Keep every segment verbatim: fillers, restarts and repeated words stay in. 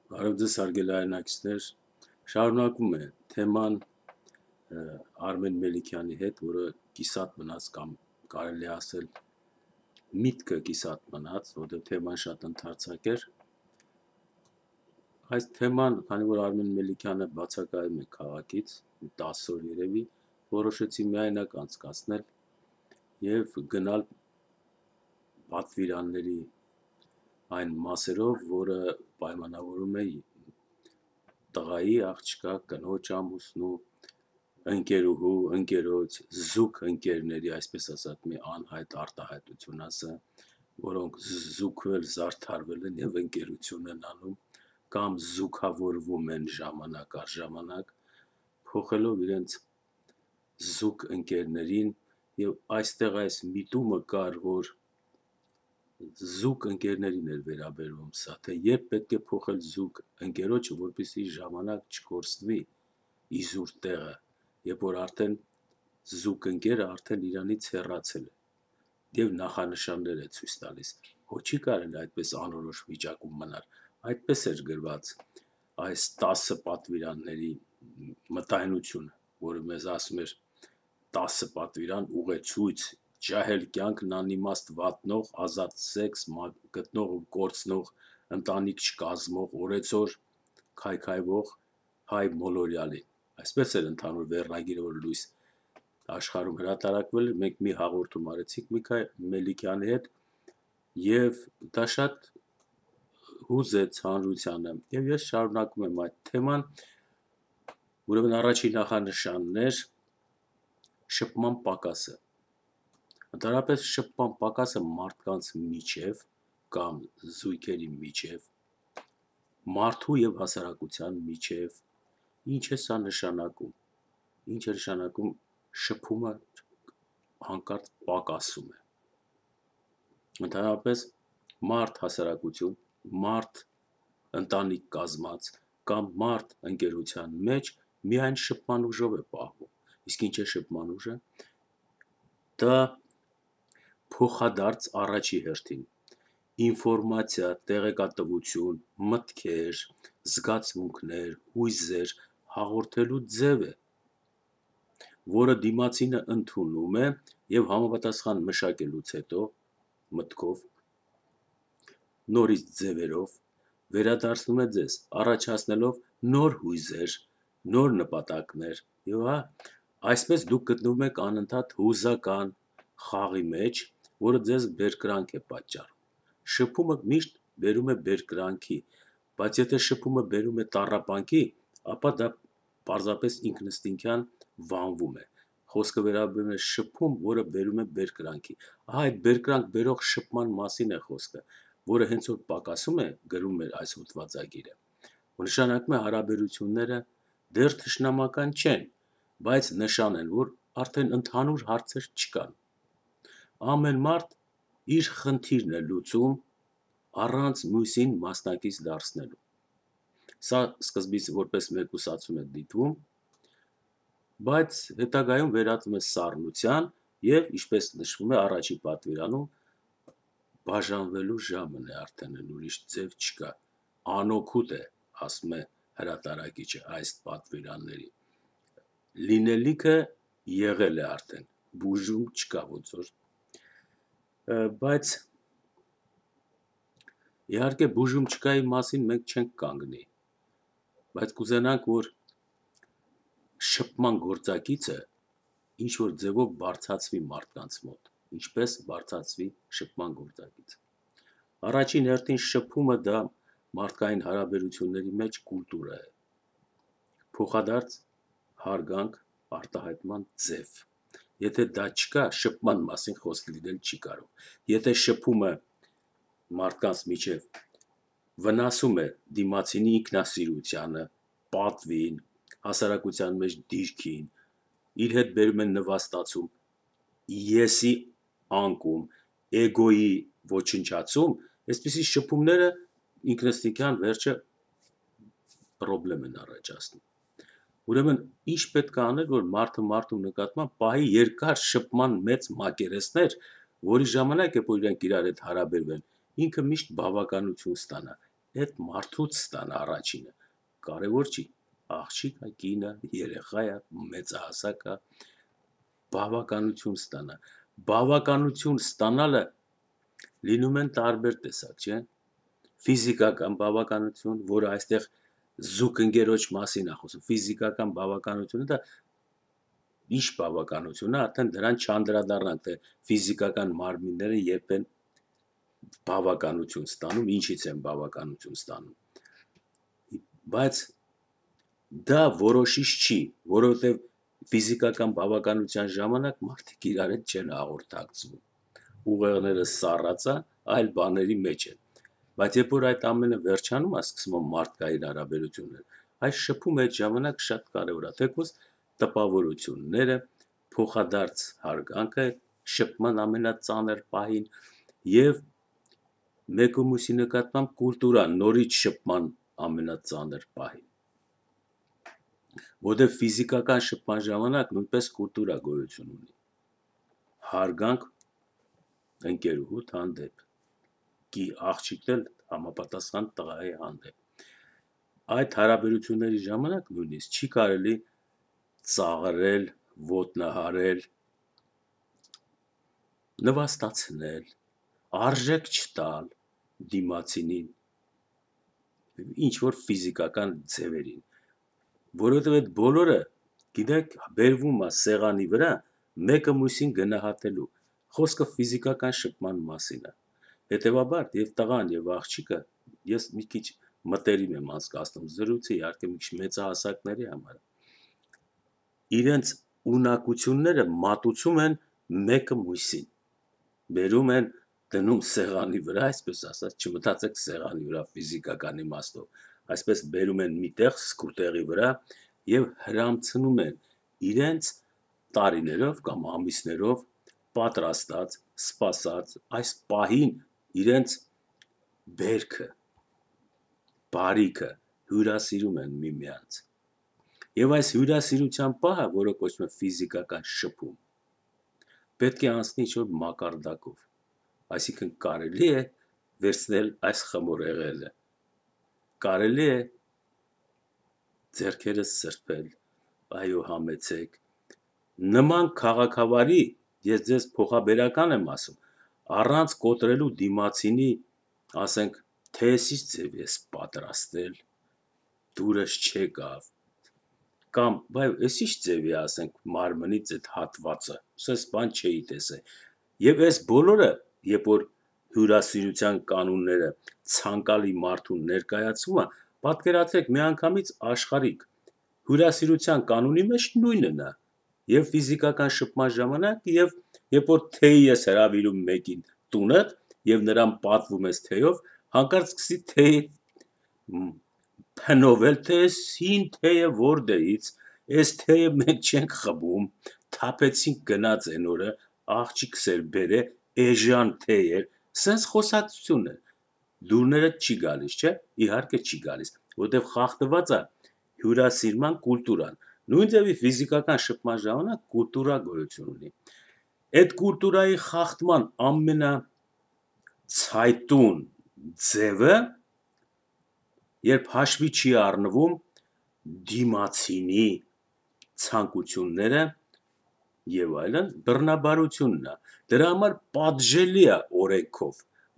Բարև ձեզ հարգելի հայրենակիցներ, շարունակում է թեման Արմեն Մելիքյանի հետ, որը կիսատ մնաց կամ կարելի ասել միտքը կիսատ մնաց, որտեղ թեման շատ ընդարձակ էր։ Այս թեման, քանի որ Արմեն Մելիքյանը բացակայում է քաղաքից, տասը օր երևի, որոշեցի միայնակ անցկացնել եւ գնալ պատվիրանների այն մասերով, որը պայմանավորում է տղայի, աղջկա, կնոջ ամուսնու, ընկերուհու, ընկերոջ, զուգ ընկերների, այսպես ասած, մի անհայտ արտահայտություն ասը, որոնք զուգվել, զարդարվել են եւ ընկերություն են անում կամ զուգավորվում են ժամանակ առ ժամանակ, փոխելով իրենց զուգ ընկերներին եւ այստեղ այս միտումը կար, որ զուգ ընկերներին էր վերաբերվում սա, թե երբ պետք է փոխել զուգ ընկերոջը, որպեսզի ժամանակ չկորցնվի իզուր տեղը, երբ որ արդեն զուգ ընկերը արդեն իրանից հեռացել է եւ նախանշաններ է ցույց տալիս, ոչ չի կարելի այդպես անորոշ վիճակում մնալ, այդպես էր գրված այս տասը պատվիրանների մտայնությունը, որը մեզ ասում էր տասը պատվիրան ուղեցույց, ջահել կյանքն անիմաստ վատնող, ազատ սեքս, գտնող ու կորցնող, ընտանիք չկազմող, օրեցօր քայքայվող հայ մոլորյալի։ Այսպես էր ընդհանուր վերնագիրը, որ լույս աշխարհում հրատարակվել էր, մենք մի հաղորդում արեցինք Միքայել Մելիքյանի հետ եւ դա շատ հուզեց հանրությանը եւ ես շարունակում եմ այդ թեման, ուրեմն առաջին նախանշանն էր շփման պակասը։ Ընդհանրապես շփման պակասը մարդկանց միջև կամ զույգերի միջև, մարդու եւ հասարակության միջև, ինչ է սա նշանակում, ինչ է նշանակում շփումը հանկարծ պակասում է։ Ընդհանրապես մարդ հասարակություն, մարդ ընտանիք կազմած կամ մարդ ընկերության մեջ միայն շփման ուժով է պահվում։ Իսկ ինչ է շփման ուժը։ Դա փոխադարձ առաջի հերթին ինֆորմացիա, տեղեկատվություն, մտքեր, զգացմունքներ, հույզեր հաղորդելու ձև է, որը դիմացինը ընդունում է եւ համապատասխան մշակելուց հետո մտքով, նորից ձևերով վերադարձնում է ձեզ, առաջացնելով նոր հույզեր, նոր նպատակներ եւ հա, այսպես դուք գտնվում եք անընդհատ հուզական խաղի մեջ, որը ձեզ բերկրանք է պատճառում։ Շփումը միշտ բերում է բերկրանքի, բայց եթե շփումը բերում է տառապանքի, ապա դա պարզապես ինքնըստինքյան վանվում է։ Խոսքը վերաբերում է շփում, որը բերում է բերկրանքի։ Ահա այդ բերկրանք բերող շփման մասին է խոսքը, որը հենց որ պակասում է, գրում է այս հոդվածագիրը, որ նշանակում է հարաբերությունները դեռ թշնամական չեն, բայց նշան են, որ արդեն ընդհանուր հարցեր չկան։ Ամեն մարդ իր խնդիրն է լուծում առանց մյուսին մասնակից դարձնելու։ Սա սկզբից որպես մեկուսացում է դիտվում, բայց հետագայում վերածվում է սառնության եւ, ինչպես նշվում է առաջի պատվիրանում, բաժանվելու ժամն է արդեն, ուրիշ ձև չկա, անօգուտ է, ասում է հրատարակիչը այս պատվիրանների։ Լինելիքը եղել է արդեն, բուժում չկա ոնց որ, բայց իհարկե բուժում չկայի մասին մենք չենք կանգնի, բայց կուզենանք, որ շփման գործակիցը ինչ որ ձևով բարձրացվի մարդկանց մոտ, ինչպես բարձրացվի շփման գործակիցը։ Առաջին հերթին շփումը դա մարդկային հարաբերությունների մեջ կուլտուրա է, փոխադարձ հարգանք արտահայտման ձև։ Եթե դա չկա, շփման մասին խոսք լինել չի կարող։ Եթե շփումը մարդկանց միջև վնասում է դիմացինի ինքնասիրությանը, պատվին, հասարակության մեջ դիրքին, իր հետ բերում են նվաստացում, եսի անկում, էգոյի ոչնչացում, այսպիսի շփումները ինքնըստինքյան վերջը պրոբլեմ են առաջացնում։ Ուրեմն ինչ պետք է անել, որ մարդը մարդու նկատմամբ պահի երկար շփման մեծ մակերեսներ, որի ժամանակ է որ իրենք իրար հետ հարաբերվեն, ինքը միշտ բավականություն ստանա, այդ մարդուց ստանա առաջինը, կարևոր չի, աղջիկը, կինը, երեխայը, մեծահասակը, բավականություն ստանա, բավականություն ստանալը լինում են տարբեր տեսակ, չէ, ֆիզիկական բավականություն, որը այստեղ զուգ ընկերոջ մասին է խոսում, ֆիզիկական բավականությունը դա ինչ բավականություն է, արդեն դրան չանդրադառնանք, թե ֆիզիկական մարմինները երբ են բավականություն ստանում, ինչից են բավականություն ստանում, բայց դա որոշիչ չի, որովհետև ֆիզիկական բավականության ժամանակ մարդիկ իրար հետ չեն հաղորդակցվում, ուղեղները սառած է, այլ բաների մեջ են, բայց երբ որ այդ ամենը վերջանում է, սկսում են մարդկային հարաբերություններ, այս շփում այդ ժամանակ շատ կարևոր է, թեկուզ տպավորությունները, փոխադարձ հարգանքը, շփման ամենածանր պահին եւ մեկը մյուսի նկատմամբ կուլտուրա, նորից շփման ամենածանր պահին, որտեղ ֆիզիկական շփման ժամանակ նույնպես կուլտուրա գոյություն ունի, հարգանք ընկերուհուդ հանդեպ, կի աղջիկն էլ համապատասխան տղայի հանդեպ, այդ հարաբերությունների ժամանակ նույնիսկ չի կարելի ծաղրել, ոտնահարել, նվաստացնել, արժեք չտալ դիմացինին, ինչ որ ֆիզիկական ձևերին, որովհետև այդ բոլորը, գիտեք, բերվում է սեղանի վրա, մեկը մյուսին գնահատելու, խոսքը ֆիզիկական շփման մասին է, հետևաբար եւ տղան եւ աղջիկը, ես մի քիչ մտերիմ եմ անցկացնում զրույցը, իհարկե մի քիչ մեծահասակների համար, իրենց ունակությունները մատուցում են մեկը մյուսին, բերում են դնում սեղանի վրա, այսպես ասած, չմտածեք սեղանի վրա ֆիզիկական իմաստով, այսպես բերում են միտեղ սկուտեղի վրա եւ հրամցնում են իրենց տարիներով կամ ամիսներով պատրաստած, սպասած այս պահին իրենց բերքը, բարիքը հյուրասիրում են միմյանց։ Եվ այս հյուրասիրության պահը, որը կոչվում է ֆիզիկական շփում, պետք է անցնի ինչ-որ մակարդակով, այսինքն կարելի է վերցնել այս խմորեղենը, կարելի է ձեռքերս սրբել, այո համեցեք, նման քաղաքավարի, ես ձեզ փոխաբերական եմ ասում, առանց կոտրելու դիմացինի, ասենք, թե ես ինչ ձև ես պատրաստել, դուրս չեկավ, կամ, բայ, ես ինչ ձև է, ասենք, մարմնից այդ հատվածը, սես բան չէի տեսել, և այս բոլորը, երբ որ հյուրասիրության կանունները ցանկալի մարդուն ներկայացվում է, պատկերացրեք միանգամից աշխարհիկ, հյուրասիրության կանոնի մեջ նույնն է, և ֆիզիկական շփման ժամանակ, և երբ որ թեյ ես հրավիրում մեկին տունդ, և նրան պատվում ես թեյով, հանկարծ սկսի թեյ փնովել, թե այս հին թեյը որտեղից, այս թեյը մենք չենք խմում, թափեցինք գնաց այն օրը, աղջիկս էր բերել, էժան թեյ էր, սենց խոսակցություն է, դուրներդ չի գալիս, չէ, իհարկե չի գալիս, որտև խախտված է հյուրասիրման կուլտուրան, նույն ձևի ֆիզիկական շփման ժամանակ կուլտուրա գոյություն ունի, այդ կուլտուրայի խախտման ամենացայտուն ձևը, երբ հաշվի չի առնվում դիմացինի ցանկությունները և այլն, բռնաբարությունն է, դրա համար պատժելի է օրենքով,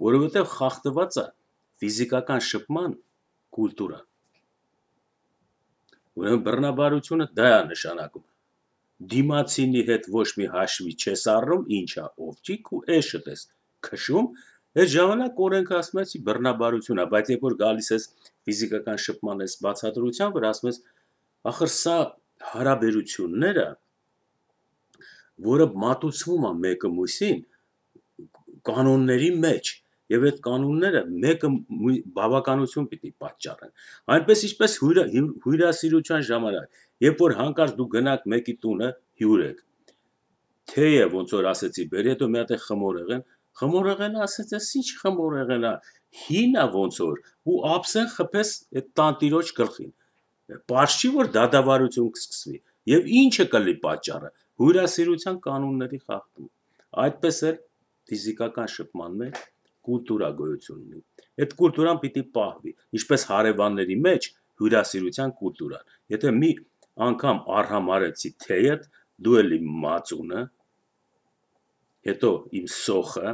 որովհետև խախտված է ֆիզիկական շփման կուլտուրան, ուրեմն բռնաբարությունը դա է նշանակում, դիմացինի հետ ոչ մի հաշվի չես առնում, ինչա ովջիկ ու էշդ ես քշում, այդ ժամանակ օրենքը ասում է բռնաբարություն է, բայց երբ որ գալիս ես ֆիզիկական շփման այս բացատրության վրա, ասում ես, ախր սա հարաբերությունները, որը մատուցվում է մեկը մյուսին կանոնների մեջ, և այդ կանոնները մեկը բավականություն պիտի պատճառեն, այնպես ինչպես հյուրասիրության ժամանակ, երբ որ հանկարծ դու գնաք մեկի տունը հյուր եք, թեյը ոնց որ ասեցի, բերի հետո մի հատ է խմորեղեն, խմորեղենը ասեց, այս ինչ խմորեղեն է, հին է ոնց որ, ու ափսեն խփես այդ տանտիրոջ գլխին, պարզ չի, որ դատավարություն կսկսվի, և ինչը կլի պատճառը, հյուրասիրության կանոնների խախտում, այդպես էլ ֆիզիկական շփման մեջ կուլտուրա գոյություն ունի։ Այդ կուլտուրան պիտի պահվի, ինչպես հարևանների մեջ հյուրասիրության կուլտուրան։ Եթե մի անգամ արհամարեցի թեյդ, դու էլ իմ մածունը, հետո իմ սոխը,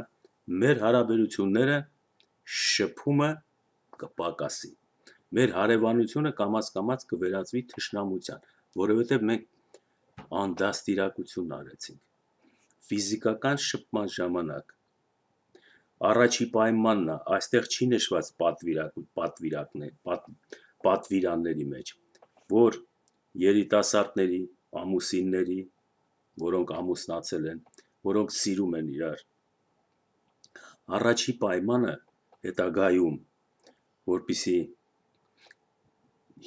մեր հարաբերությունները շփումը կպակասի։ Մեր հարևանությունը կամաց-կամաց կվերածվի թշնամության, որովհետև մենք անդաստիարակություն արեցինք։ Ֆիզիկական շփման ժամանակ առաջի պայմանն է, այստեղ չի նշված պատվիրակ, պատվիրակներ, պատ, պատվիրանների մեջ, որ երիտասարդների, ամուսինների, որոնք ամուսնացել են, որոնք սիրում են իրար, առաջի պայմանը հետագայում, որպիսի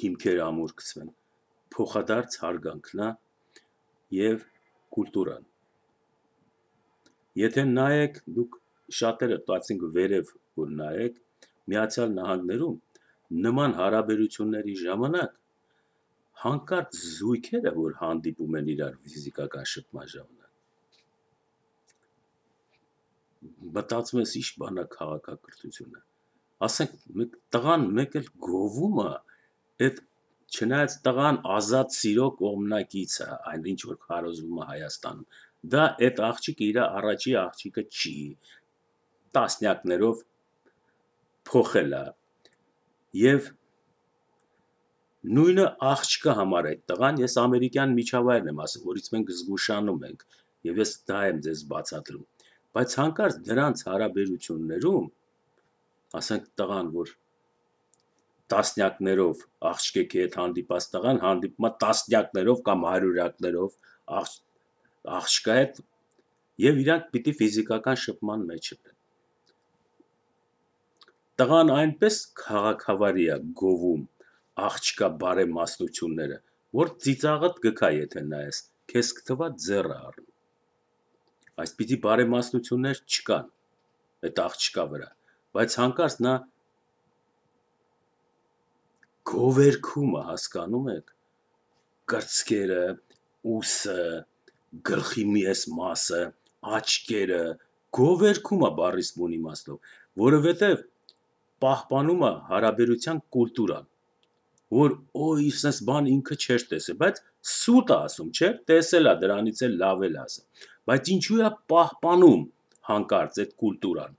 հիմքեր ամուր գցվեն, փոխադարձ հարգանքն է եւ կուլտուրան։ Եթե նայեք, դուք շատերը տացինք վերև, որ նայեք, Միացյալ Նահանգներում նման հարաբերությունների ժամանակ հանկարծ զույգերը, որ հանդիպում են իրար ֆիզիկական շփման ժամանակ, մտածում ես ինչ բան է քաղաքակրթությունը, ասենք տղան մեկ էլ գովում է, այդ չնայած տղան ազատ սիրո կողմնակից է, այն ինչ որ քարոզվում է Հայաստանում, դա այդ աղջիկը իր առաջի աղջիկը չի, տասնյակներով փոխել է, եւ նույնը աղջկա համար այդ տղան, ես ամերիկյան միջավայրն եմ ասում, որից մենք զգուշանում ենք, եւ ես դա եմ ձեզ բացատրում, բայց հանկարծ դրանց հարաբերություններում, ասենք տղան, որ տասնյակներով աղջկեքի հետ հանդիպած տղան հանդիպում է տասնյակներով կամ հարյուրյակներով աղջ, աղջկա հետ եւ իրանք պիտի ֆիզիկական շփման մեջ են։ Տղան այնպես քաղաքավարի է գովում աղջկա բարեմասնությունները, որ ծիծաղդ գքա եթե նայես, քեզ կթվա ձեռը առնում։ Այսպիսի բարեմասնություններ չկան այդ աղջկա վրա, բայց հանկարծ նա գովերքումը, հասկանում եք, կրծքերը, ուսը, գլխի միես մասը, աչքերը, գովերքում է բառիս բուն իմաստով, որովհետև պահպանում է հարաբերության կուլտուրան, որ օ իսես բան ինքը չէր տեսել, բայց սուտ է ասում, չէ, տեսել է, դրանից էլ լավ էլ ասա, բայց ինչու է պահպանում հանկարծ այդ կուլտուրան,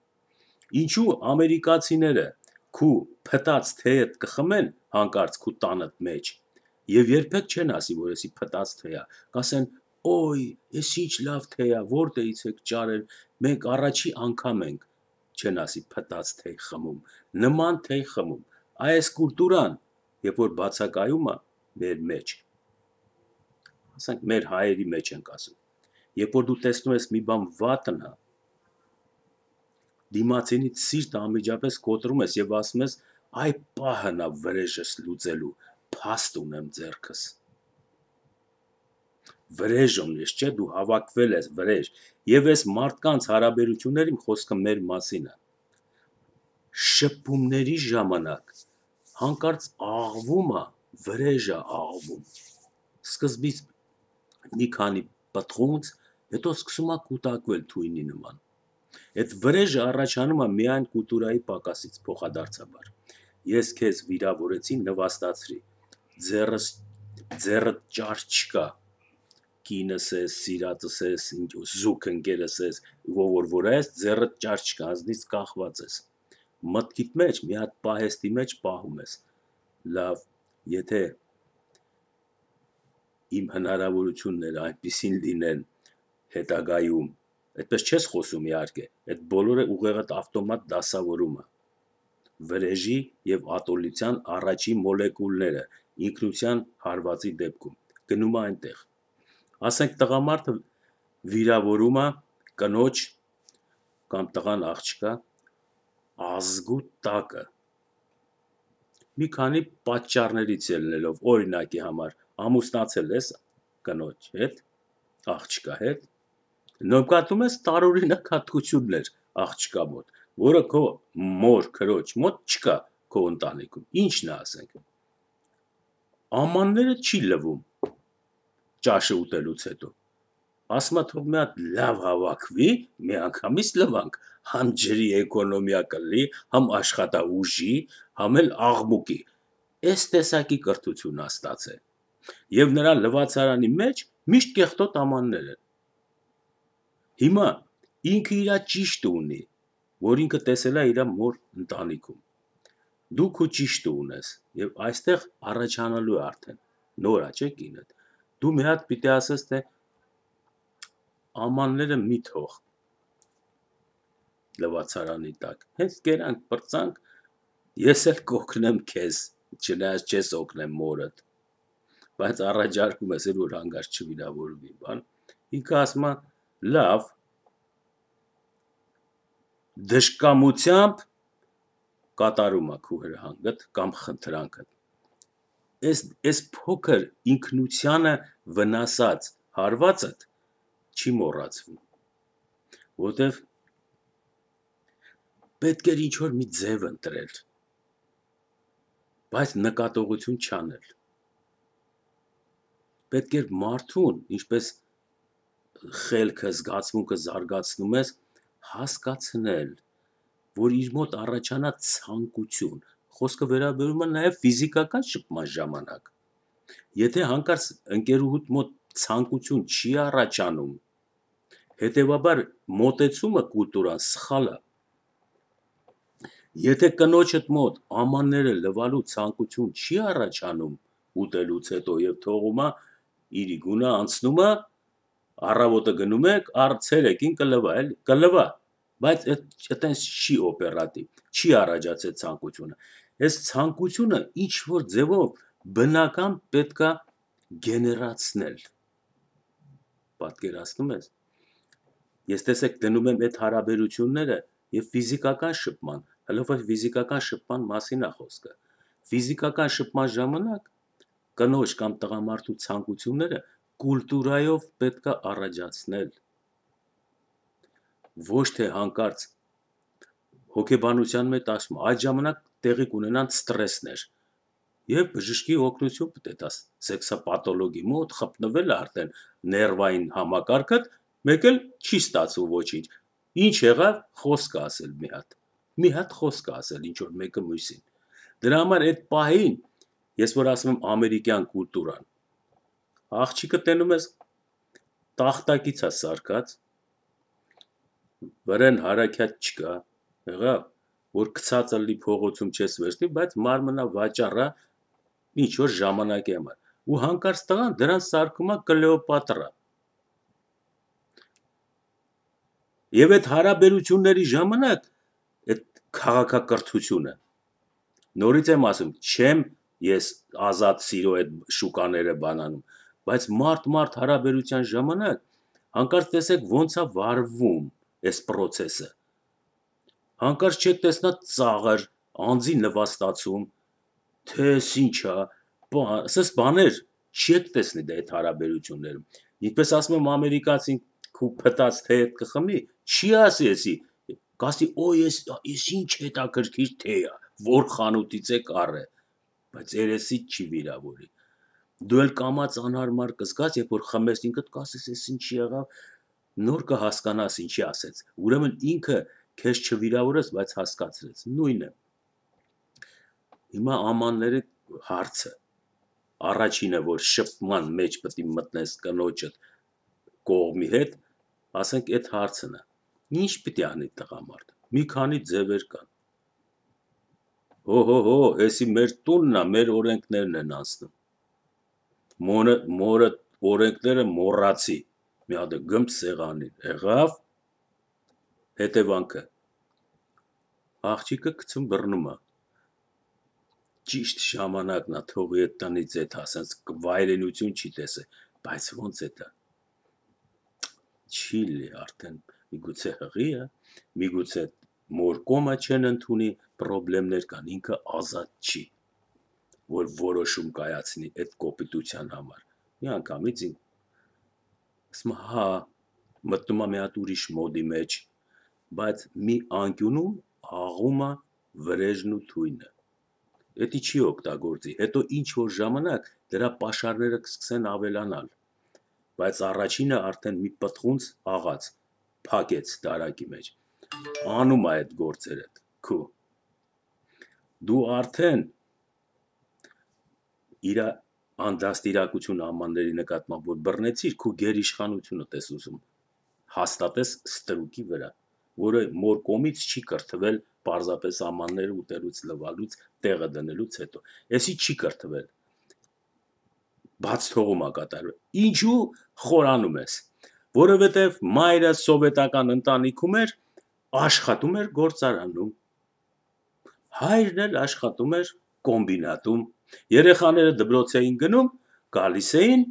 ինչու ամերիկացիները քու փտած թեյդ կխմեն հանկարծ քու տանդ մեջ, եւ երբեք չեն ասի, որ էսի փտած թեյ է, կասեն, օй, ես ինչ լավ թեյ է, որտեղից եք ճարել, մենք առաջի անգամ ենք, չեն ասի փտած թեյ խմում, նման թեյ խմում, այս կուլտուրան, երբ որ բացակայում է մեր մեջ, ասենք մեր հայերի մեջ ենք ասում, երբ որ դու տեսնում ես մի բան վատն է, դիմացինից սիրտ անմիջապես կոտրում ես եւ ասում ես, այ պահն է վրեժս լուծելու, փաստ ունեմ ձեռքս, վրեժ ունես, չէ, դու հավաքվել ես վրեժ, եւ այս մարդկանց հարաբերություններին խոսքը մեր մասին է, շփումների ժամանակ, հանկարծ աղվում է, վրեժ է աղվում, սկզբից մի քանի պտղունց, հետո սկսում է կուտակվել թույնի նման, այդ վրեժը առաջանում է միայն կուլտուրայի պակասից փոխադարձաբար, ես քեզ վիրավորեցի, նվաստացրի, ձեռս, ձեռդ ճար չկա, կինս ես, սիրածս ես, զուգ ընկերս ես, որ որ ես, ձեռդ ճար չկա, ազնից կախված ես, մտքիդ մեջ, մի հատ պահեստի մեջ պահում ես, լավ, եթե իմ հնարավորությունները այնպիսին լինեն հետագայում, այդպես չես խոսում իհարկե, այդ բոլորը ուղեղդ ավտոմատ դասավորում է, վրեժի եւ ատոլության առաջի մոլեկուլները ինքնության հարվածի դեպքում գնում է այնտեղ, ասենք տղամարդը վիրավորում է կնոջ կամ տղան աղջկա ազգու տակը, մի քանի պատճառներից ելնելով, օրինակի համար, ամուսնացել ես կնոջ հետ, աղջկա հետ, նկատում ես տարօրինակ հատկություններ աղջկա մոտ, որը քո մոր քրոջ մոտ չկա քո ընտանիքում, ինչն է ասենք, ամանները չի լվում ճաշը ուտելուց հետո, ասма թող մի հատ լավ հավաքվի, մի անգամից լվանք, համ ջրի էկոնոմիա կլի, համ աշխատաուժի, համ էլ աղմուկի, այս տեսակի կրթություն ստացել, եւ նրա լվացարանի մեջ միշտ կեղտոտ ամաններ են, հիմա ինքը իրա ճիշտ ունի, որ ինքը տեսել է իր մոր ընտանիքում, դու քո ճիշտը ունես, եւ այստեղ առաջանալու է արդեն, նոր է, չէ՞ կինդ, դու մի հատ պիտի ասես, թե ամանները մի թող լվացարանի տակ, հենց կերանք պրծանք, ես էլ կօգնեմ քեզ, չնայած չես օգնեմ մորդ, բայց առաջարկում ես, որ հանգարց չվիրավորվի, բան, ինքը ասում է, լավ, դժկամությամբ կատարում է քո հրահանգդ կամ խնդրանքդ, այս փոքր ինքնությանը վնասած հարվածդ չի մոռացվում, որտեվ պետք էր ինչ-որ մի ձև ընտրել, բայց նկատողություն չանել, պետք էր մարդուն, ինչպես խելքը, զգացմունքը զարգացնում ես, հասկացնել, որ իր մոտ առաջանա ցանկություն, խոսքը վերաբերում է նաև ֆիզիկական շփման ժամանակ, եթե հանկարծ ընկերուհուդ մոտ ցանկություն չի առաջանում, հետևաբար մոտեցումը կուլտուրան սխալ է, եթե կնոջդ մոտ ամանները լվալու ցանկություն չի առաջանում ուտելուց հետո եւ թողում է իր գունը անցնում է, առավոտը գնում եք, արցերեկին կլվա, էլի, կլվա, բայց այտենց չի օպերատիվ, չի առաջացել ցանկությունը, այս ցանկությունը ինչ-որ ձևով բնական պետքա գեներացնել, պատկերացնում ես, ես տեսեք դնում եմ այդ հարաբերությունները եւ ֆիզիկական շփման, հələ ֆիզիկական շփման մասին է խոսքը, ֆիզիկական շփման ժամանակ կնոջ կամ տղամարդու ցանկությունները կուլտուրայով պետքա առաջացնել, ոչ թե հանկարծ հոգեբանության մեջ ասում, այդ ժամանակ տեղի կունենան ստրեսներ, եւ բժշկի օգնություն պետք է տաս, սեքսապաթոլոգի մոտ խփնվել արդեն ներվային համակարգդ, մեկ էլ չի ստացվում ոչինչ, ինչ եղավ, խոսք ասել մի հատ, մի հատ խոսք ասել, ինչ որ մեկը մյուսին, դրա համար այդ պահին, ես որ ասում եմ ամերիկյան կուլտուրան, աղջիկը տենում ես տախտակից է սարքած, վրան հարակյաց չկա, եղավ, որ գցածը լի փողոցում չես վերցնի, բայց մարմնա վաճառա ինչ որ ժամանակի համար, ու հանկարծ տղան դրան սարքում է Կլեոպատրա, եւ այդ հարաբերությունների ժամանակ, այդ քաղաքակրթությունը, նորից եմ ասում, չեմ ես ազատ սիրո այդ շուկաները բանանում, բայց մարդ-մարդ հարաբերության ժամանակ, հանկարծ տեսեք ոնց է վարվում այս պրոցեսը, հանկարծ չեք տեսնա ծաղր, անձի նվաստացում, թե ինչա, ասես բաներ չեք տեսնի դա այդ հարաբերություններում, ինչպես ասում եմ ամերիկացին քու փտած թե հետ կխմի, չի ասի էսի, կասի օ ես ինչ հետաքրքիր թե է, որ խանութից է կառը, բայց երեսի չի վիրավորի, դու էլ կամած անհարմար կզգաս, երբ որ խմես ինքդ կասես, ես ինչի եղավ, նոր կհասկանաս ինչի ասեց, ուրեմն ինքը քեզ չվիրավորեց, բայց հասկացրեց, նույնը, հիմա ամանների հարցը, առաջինը, որ շփման մեջ պետք է մտնես կնոջդ կողմի հետ, ասենք այդ հարցն է, ինչ պիտի անի տղամարդը, մի քանի ձևեր կան, հո հո հո, էսի մեր տունն է, մեր օրենքներն են անցնում, մորը, մորը օրենքները մոռացի, մի հատ գմփ սեղանին, եղավ, հետևանքը, աղջիկը գցում բռնում է, ճիշտ ժամանակն է, թողի այդ տնից այդ ասած վայրենություն չի տեսել, բայց ոնց է դա, չի լի արդեն, միգուցե հղի է, միգուցե մոր կոմը չեն ընդունի, պրոբլեմներ կան, ինքը ազատ չի, որ որոշում կայացնի այդ կոպիտության համար, մի անգամից ինք, ասում հա, մտնում է մի հատ ուրիշ մոդի մեջ, բայց մի անկյունում աղում է վրեժն ու թույնը, էդի չի օգտագործի, հետո ինչ որ ժամանակ դրա պաշարները կսկսեն ավելանալ, բայց առաջինը արդեն մի պտղունց աղաց փակեց դարակի մեջ, անում է այդ գործերը քու, դու արդեն իր անդաստիրակություն ամանների նկատմամբ, որ բռնեցիր, քու գերիշխանությունը տես ուզում հաստատես ստրուկի վրա, որը մոր կողմից չի կրթվել պարզապես ամանները ուտելուց լվալուց, տեղը դնելուց հետո, էսի չի կրթվել, բաց թողում է կատարվել, ինչու խորանում ես, որովհետև մայրը սովետական ընտանիքում էր, աշխատում էր գործարանում, հայրն էլ աշխատում էր կոմբինատում, երեխաները դպրոց էին գնում, գալիս էին,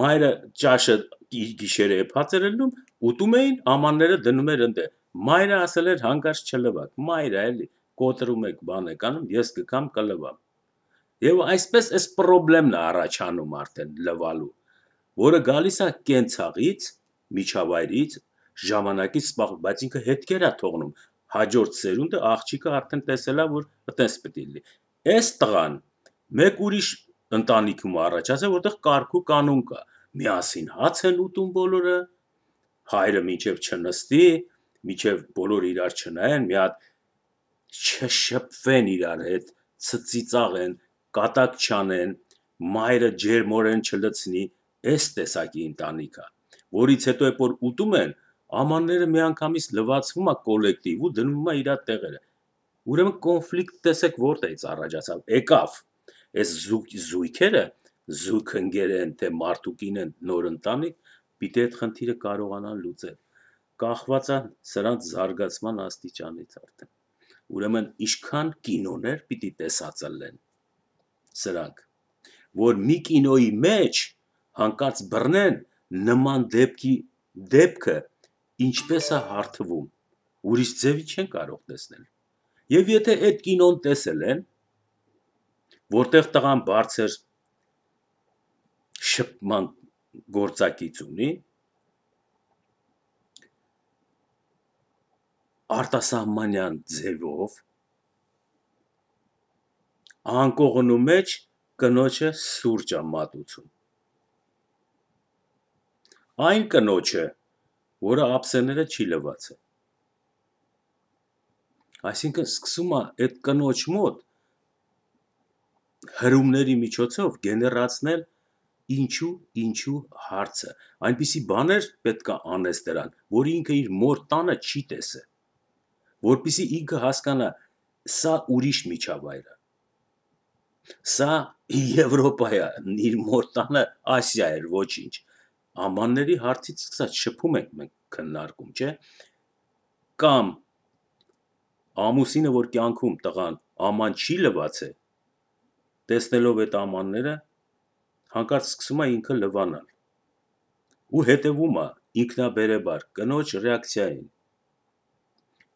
մայրը ճաշը գիշերը էփած էր ելնում, ուտում էին, ամանները դնում էր ընդ, մայրը ասել էր հանկարծ չլվակ, մայրը էլի կոտրում եք, բան եք անում, ես կգամ կլվամ, եւ այսպես այս պրոբլեմն է առաջանում արդեն լվալու, որը գալիս է կենցաղից, միջավայրից, ժամանակից սպաղ, բայց ինքը հետքեր է թողնում, հաջորդ սերունդը աղջիկը արդեն տեսել է, որ այտենց պետք է լինի, այս տղան մեկ ուրիշ ընտանիքում առաջացել, որտեղ կարգ ու կանոն կա, միասին հաց են ուտում բոլորը, հայրը մինչև չնստի, մինչև բոլորը իրար չնայեն, մի հատ չշփվեն իրար հետ, ծիծաղեն, կատակ չանեն, մայրը ջերմորեն չլցնի, այս տեսակի ընտանիք է, որից հետո երբ որ ուտում են, ամանները միանգամից լվացվում է կոլեկտիվ ու դնում է իր տեղերը, ուրեմն կոնֆլիկտ տեսեք որտեղից առաջացավ, եկավ, այս զույգերը, զույգ ընկեր են, թե մարդուկին են նոր ընտանիք, պիտի այդ խնդիրը կարողանան լուծել, կախված է սրանց զարգացման աստիճանից արդեն, ուրեմն ինչքան կինոներ պիտի տեսածլեն սրանք, որ մի կինոյի մեջ հանկարծ բռնեն նման դեպքի դեպքը ինչպես է հարթվում, ուրիշ ձևի չեն կարող տեսնել, եւ եթե այդ կինոն տեսել են, որտեղ տղան բարձր շփման գործակից ունի, արտասահմանյան ձևով, անկողնու մեջ կնոջը սուրճ է մատուցում, այն կնոջը, որը ափսեները չի լվացել, այսինքն սկսում է այդ կնոջ մոտ հրումների միջոցով գեներացնել ինչու, ինչու հարցը, այնպիսի բաներ պետք է անես դրան, որ ինքը իր մոր տանը չի տեսել, որպեսզի ինքը հասկանա, սա ուրիշ միջավայր է, սա Եվրոպա է, իր մոր տանը Ասիա էր, ոչինչ, ամանների հարցից սկսած շփում ենք մենք քննարկում, չէ, կամ ամուսինը, որ կյանքում տղան աման չի լվացել, տեսնելով այդ ամանները, հանկարծ սկսում է ինքը լվանալ, ու հետևում է ինքնաբերեբար կնոջ ռեակցիային,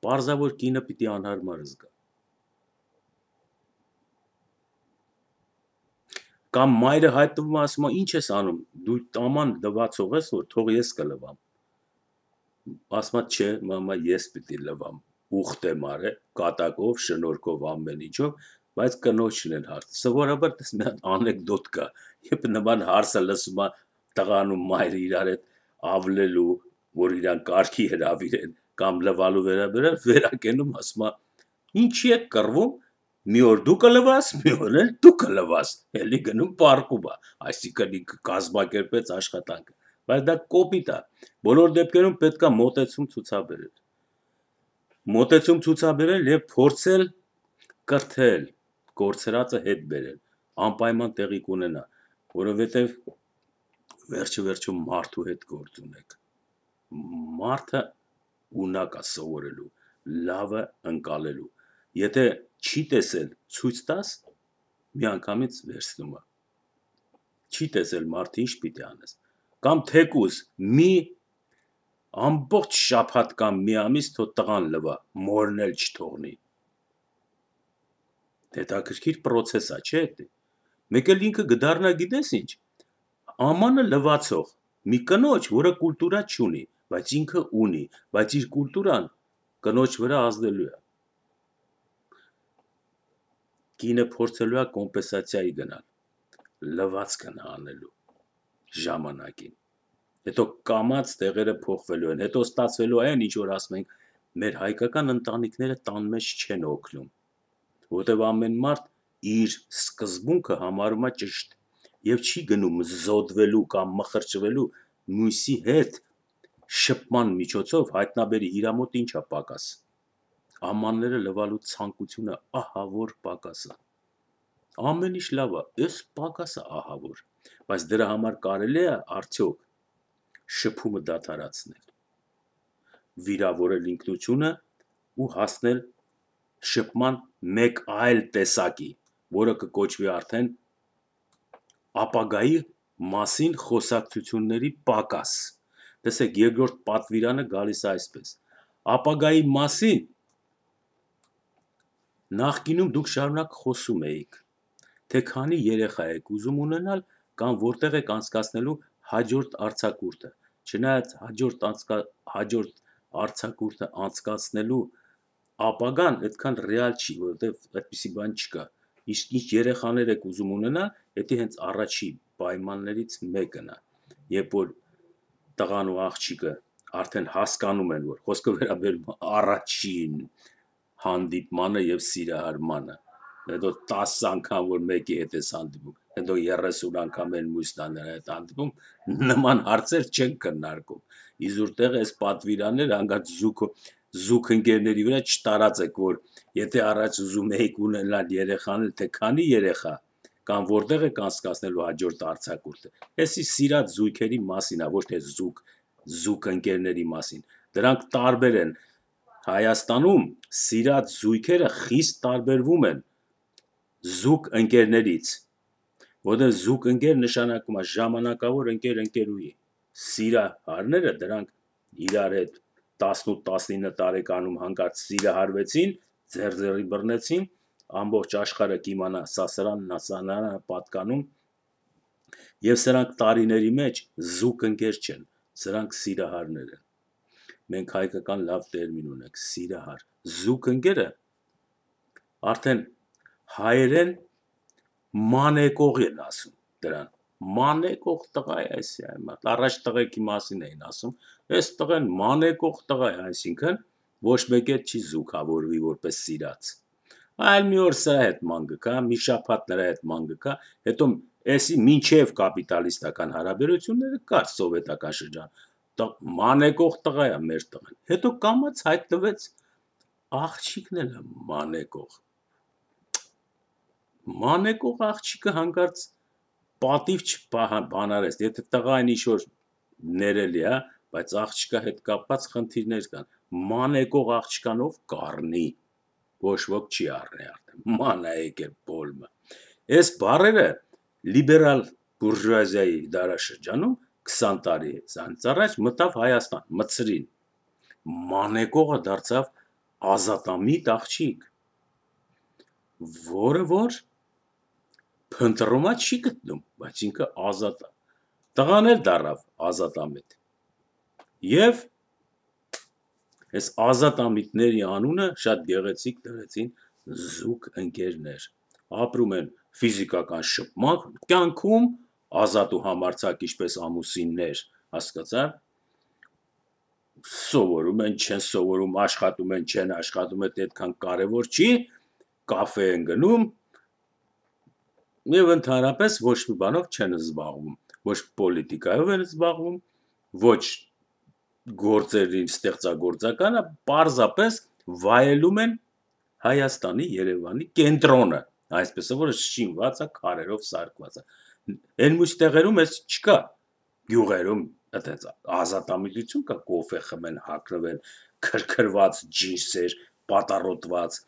պարզավոր կինը պիտի անհարմար զգա, կամ մայրը հայտնվում ասում է, ինչ ես անում, դու աման լվացող ես, որ թող ես կլվամ, ասում է, չէ, մամա, ես պիտի լվամ, ուխտ եմ արել, կատակով, շնորհքով, ամեն ինչով, բայց կնոջն են հարցը, սովորաբար տես մի հատ անեկդոտ կա, երբ նման հարցը լսում է տղան ու մայրը իրար հետ ավլելու, որ իրան կարգի հրավիրեն, կամ լվալու վերաբերյալ, վերակենում ասում է, ինչի եք կռվում, մի օր դու կլվաս, մի օր էլ դու կլվաս, էլի գնում պառկում է, այսինքն ինքը կազմակերպեց աշխատանքը, բայց դա կոպիտ է, բոլոր դեպքերում պետք է մոտեցում ցուցաբերել, մոտեցում ցուցաբերել եւ փորձել կրթել, կորցրածը հետ բերել, անպայման տեղի կունենա, որովհետեւ վերջը վերջում մարդու հետ գործ ունեք, մարդը ունակ է սովորելու, լավը ընկալելու, եթե չի տեսել ցույց տաս, միանգամից վերցնում է, չի տեսել մարդը ինչ պիտի անես, կամ թեկուզ մի ամբողջ շաբաթ կամ մի ամիս թող տղան լվա, մորն էլ չթողնի, հետաքրքիր պրոցես է, չէ՞ դա, մեկ էլ ինքը կդառնա գիտես ինչ, ամանը լվացող, մի կնոջ, որը կուլտուրա չունի, բայց ինքը ունի, բայց իր կուլտուրան կնոջ վրա ազդելու է, կինը փորձելու է կոմպենսացիայի գնալ, լվացքն անելու, ժամանակին։ Հետո կամած տեղերը փոխվելու են, հետո ստացվելու այն, ինչ որ ասում ենք, մեր հայկական ընտանիքները տան մեջ չեն օգնում, որտեղ ամեն մարդ իր սկզբունքը համարում է ճիշտ եւ չի գնում զոդվելու կամ մխրճվելու մյուսի հետ շփման միջոցով հայտնաբերի իր մոտ ինչ է պակաս։ Ամանները լվալու ցանկությունը ահա որ պակաս է։ Ամեն ինչ լավ է, այս պակասը ահա որ, բայց դրա համար կարելի է արդյոք շփումը դադարեցնել, վիրավորել ինքնությունը ու հասնել շփման մեկ այլ տեսակի, որը կկոչվի արդեն ապագայի մասին խոսակցությունների պակաս։ Տեսեք, երկրորդ պատվիրանը գալիս է այսպես. ապագայի մասին նախկինում դուք շարունակ խոսում էիք, թե քանի երեխա եք ուզում ունենալ կամ որտեղ եք անցկացնելու հաջորդ արձակուրդը, չնայած հաջորդ անցկա հաջորդ արձակուրդը անցկացնելու ապագան այդքան ռեալ չի, որովհետև այդպիսի բան չկա։ Իսկ ինչ երեխաներ եք ուզում ունենալ, դա հենց առաջի պայմաններից մեկն է, երբ որ տղան ու աղջիկը արդեն հասկանում են, որ խոսքը վերաբերում է առաջին հանդիպմանը եւ սիրահարմանը, հետո տասը անգամ որ մեկի հետ ես հանդիպում, հետո երեսուն անգամ են մյուսն հետ հանդիպում, նման հարցեր չեն քննարկում։ Իզուր այս պատվիրանները հանգած զուգ զուգ ընկերների վրա չտարածեք, որ եթե առաջ ուզում եք ունենալ երեխաներ, թե քանի երեխա կամ որտեղ եք անցկացնելու հաջորդ արձակուրդը։ Էսի սիրած զույգերի մասին է, ոչ թե զուգ զուգ ընկերների մասին։ Դրանք տարբեր են։ Հայաստանում սիրած զույգերը խիստ տարբերվում են զուգ ընկերներից, որտեղ զուգ ընկեր նշանակում է ժամանակավոր ընկեր ընկերուհի։ Սիրահարները դրանք իրար հետ տասնութ տասնինը տարեկանում հանկարծ սիրահարվեցին, ձեռձեռի բռնեցին, ամբողջ աշխարհը կիմանա սա սրանն է, սա նրան է պատկանում, եւ սրանք տարիների մեջ զուգ ընկեր չեն, սրանք սիրահարներ են։ Մենք հայկական լավ տերմին ունենք՝ սիրահար։ Զուգ ընկերը արդեն հայերեն մանեկող են ասում դրան։ Մանեկող տղա է այսի այմատ։ Առաջ տղեկի մասին էին ասում, այս տղեն մանեկող տղա է, այսինքն ոչ մեկ էլ չի զուգավորվի որպես սիրած։ Այլ մի օր սրա հետ ման գկա, մի շաբաթ նրա հետ ման գկա, հետո էսի մինչև կապիտալիստական հարաբերությունները կար սովետական շրջան։ Մանեկող տղա է մեր տղան։ Հետո կամաց հայտնվեց աղջիկն էլ է մանեկող։ Մանեկող աղջիկը հանկարծ պատիվ չբանարեց, եթե տղային ինչ-որ ներելի է, բայց աղջիկա հետ կապված խնդիրներ կան։ Մանեկող աղջկանով կառնի, ոչ ոք չի առնի արդեն, ման է եկել բոլմը։ Այս բառերը լիբերալ բուրժուազիայի դարաշրջանում քսան տարի ցանց առաջ մտավ Հայաստան, մտցրին։ Մանեկողը դարձավ ազատամիտ աղջիկ, որը որ փնտրումա չի գտնում, բայց ինքը ազատ է։ Տղան էլ դառավ ազատամիտ։ Եվ այս ազատամիտների անունը շատ գեղեցիկ դրեցին զուգ ընկերներ։ Ապրում են ֆիզիկական շփման կյանքում, ազատ ու համարձակ ինչպես ամուսիններ, հասկացա՞։ Սովորում են, չեն սովորում, աշխատում են, չեն աշխատում, այդ այդքան կարևոր չի, կաֆե են գնում եւ ընդհանրապես ոչ մի բանով չեն զբաղվում, ոչ պոլիտիկայով են զբաղվում, ոչ գործերին ստեղծագործականը, պարզապես վայելում են Հայաստանի, Երևանի կենտրոնը, այսպես որը շինված է, քարերով սարքված է։ Այն մյուս տեղերում էս չկա, գյուղերում այդպես ազատամիտություն կա, կոֆե խմեն, հագնվեն, քրքրված ջինսեր, պատառոտված,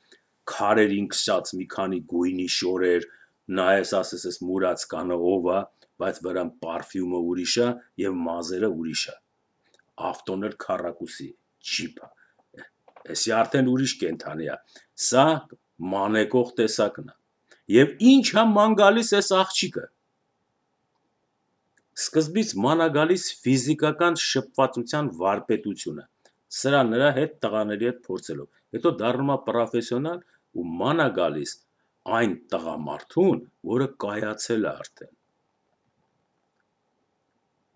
քարերին քսած մի քանի գույնի շորեր, նայես ասես էս մուրած կանը ով է, բայց վրան պարֆյումը ուրիշ է եւ մազերը ուրիշ է։ Ավտոն էլ քառակուսի, ջիպ է։ Էսի արդեն ուրիշ կենթանի է։ Սա մանեկող տեսակն է։ Եվ ինչ է ման գալիս էս աղջիկը։ Սկզբից ման է գալիս ֆիզիկական շփվածության վարպետությունը։ Սրա նրա հետ տղաների հետ փորձելով։ Հետո դառնում է պրոֆեսիոնալ ու ման է գալիս այն տղամարդուն, որը կայացել է արդեն։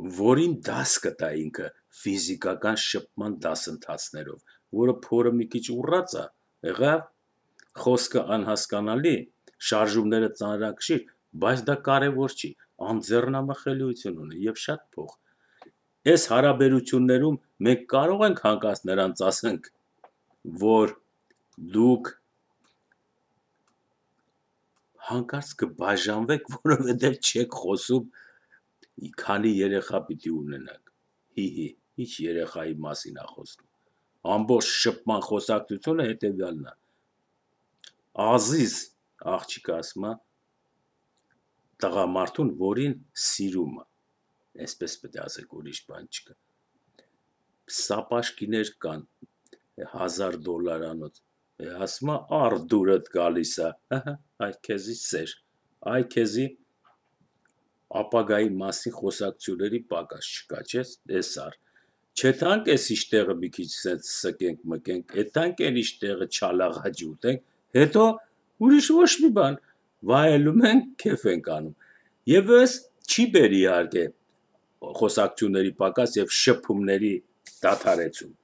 որին դաս կտա ինքը ֆիզիկական շփման դասընթացներով, որը փորը մի քիչ ուռած է, եղավ, խոսքը անհասկանալի, շարժումները ծանրակշիռ, բայց դա կարևոր չի, անձեռնամխելիություն ունի եւ շատ փող։ Այս հարաբերություններում մենք կարող ենք հանկարծ նրանց ասենք, որ դուք հանկարծ կբաժանվեք, որովհետև չեք խոսում, քանի երեխա պիտի ունենաք։ Հի-հի, ինչ երեխայի մասին է խոսում։ Ամբողջ շփման խոսակցությունը հետևյալն է։ Ազիզ աղջիկը ասում է տղամարդուն, որին սիրում է։ Այսպես պետք է ասեք, ուրիշ բան չկա։ Սապաշկիներ կան հազար դոլարանոց։ Ասում է առ դուրդ գալիս է, ահա, այ քեզի սեր, այ քեզի ապագայի մասին խոսակցությունների պակաս չկա, չէ՞, էս առ։ Չեթանք էս իշտեղը մի քիչ սենց սկենք մկենք, էթանք են իշտեղը չալաղաջի ուտենք, հետո ուրիշ ոչ մի բան, վայելում ենք, քեֆ ենք անում։ Եվ ըս չի բերի իհարկե խոսակցությունների պակաս եւ շփումների դադարեցում,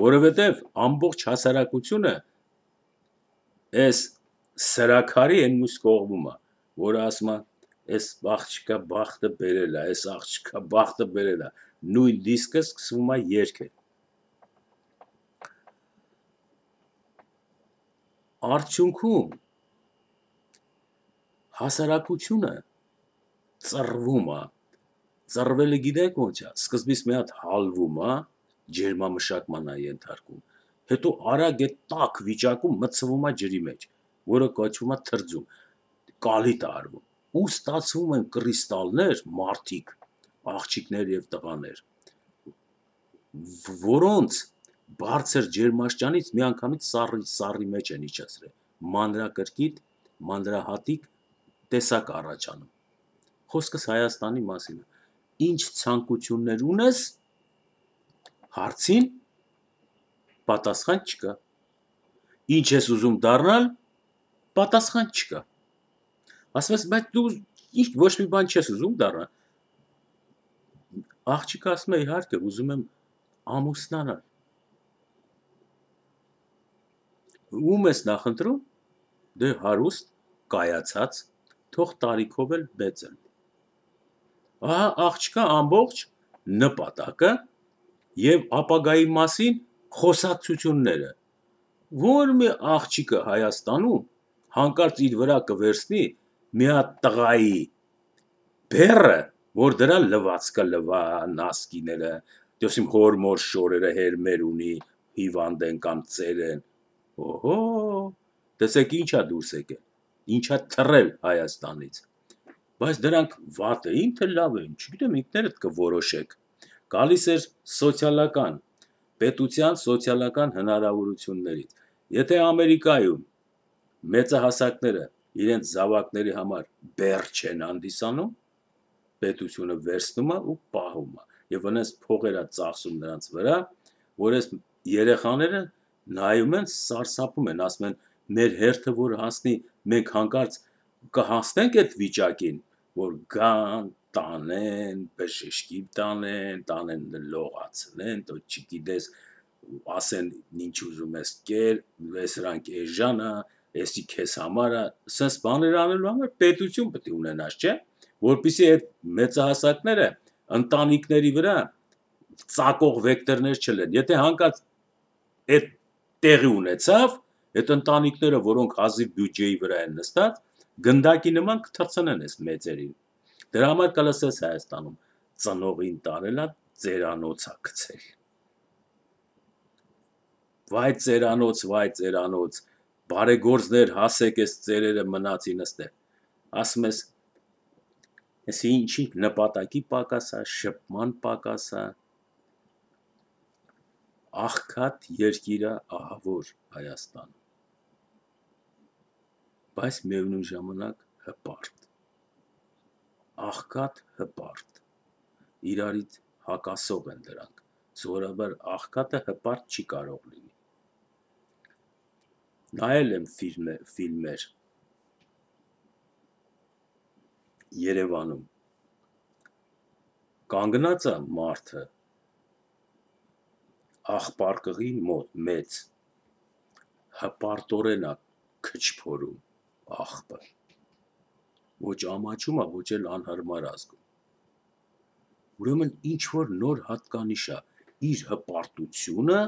որովհետեւ ամբողջ հասարակությունը այս սրաքարի են մյուս կողմում է, որը ասում է, այս աղջիկա բախտը բերել է, այս աղջիկա բախտը բերել է, նույն դիսկը սկսվում է երգել։ Արդյունքում հասարակությունը ծռվում է, ծռվելը գիտեք ոնց է, սկզբից մի հատ հալվում է, ջերմամշակման է ենթարկում, հետո արագ է տաք վիճակում մտցվում է ջրի մեջ, որը կոչվում է թրձում, կալիտ է արվում, ու ստացվում են կրիստալներ, մարդիկ, աղջիկներ եւ տղաներ, որոնց բարձր ջերմաշճանից միանգամից սառի, սառի մեջ են իջեցրել, մանրակրկիտ, մանրահատիկ տեսակ առաջանում։ Խոսքս Հայաստանի մասին է։ Ինչ ցանկություններ ունես, հարցին պատասխան չկա։ Ինչ ես ուզում դառնալ, պատասխան չկա։ Ասում ես, բայց դու ինչ ոչ մի բան չես ուզում դառնալ։ Աղջիկը ասում է, իհարկե, ուզում եմ ամուսնանալ։ Ում ես նախընտրում։ Դե հարուստ, կայացած, թող տարիքով էլ մեծ են։ Ահա աղջկա ամբողջ նպատակը եւ ապագայի մասին խոսակցությունները, որ մի աղջիկը Հայաստանում հանկարծ իր վրա կվերցնի մի հատ տղայի բերը, որ դրա լվացքը լվա, նասկիները, դեսիմ հորմոր շորերը հերմեր ունի, հիվանդ են կամ ծեր են։ Օհո, տեսեք ինչա դուրս եկել, ինչա թռել Հայաստանից։ Բայց դրանք վատ էին, թե լավ էին, չգիտեմ, ինքներդ կորոշեք։ Գալիս էր սոցիալական, պետության սոցիալական հնարավորություններից։ Եթե Ամերիկայում մեծահասակները իրենց զավակների համար բեռ չեն հանդիսանում, պետությունը վերցնում է ու պահում է, եւ այնպես փողեր է ծախսում նրանց վրա, որ այս երեխաները նայում են, սարսափում են, ասում են, մեր հերթը որ հասնի, մենք հանկարծ կհասնենք այդ վիճակին, որ գան, տանեն, բժշկի տանեն, տանեն լողացնեն, դու չգիտես, ասեն ինչ ուզում ես կեր, սրանք էժան է, էսի քեզ համար է, սենց բաներ անելու համար պետություն պետք է ունենաս, չէ՞, որպեսզի այդ մեծահասակները ընտանիքների վրա ծակող վեկտորներ չլեն։ Եթե հանկարծ այդ տեղի ունեցավ, այդ ընտանիքները, որոնք հազիվ բյուջեի վրա են նստած, գնդակի նման կթռցնեն այս մեծերին։ Դրա համար կլսես Հայաստանում ծնողին տարելա ծերանոցա գցել։ Վայ ծերանոց, վայ ծերանոց, բարեգործներ հասեք այս ծերերը մնացին ըստեղ։ Ասում ես, այսի ինչի նպատակի պակաս է, շփման պակաս է, աղքատ երկիր է, ահավոր Հայաստան, բայց միևնույն ժամանակ հպարտ, աղքատ հպարտ, իրարից հակասող են դրանք, սովորաբար աղքատը հպարտ չի կարող լինի։ Նայել եմ ֆիլմեր Երևանում, կանգնած է մարդը աղբարկղի մոտ մեծ հպարտորեն է քչփորում աղբը ոչ ամաչում է ոչ էլ անհարմար ազգում ուրեմն ինչ որ նոր հատկանիշ է իր հպարտությունը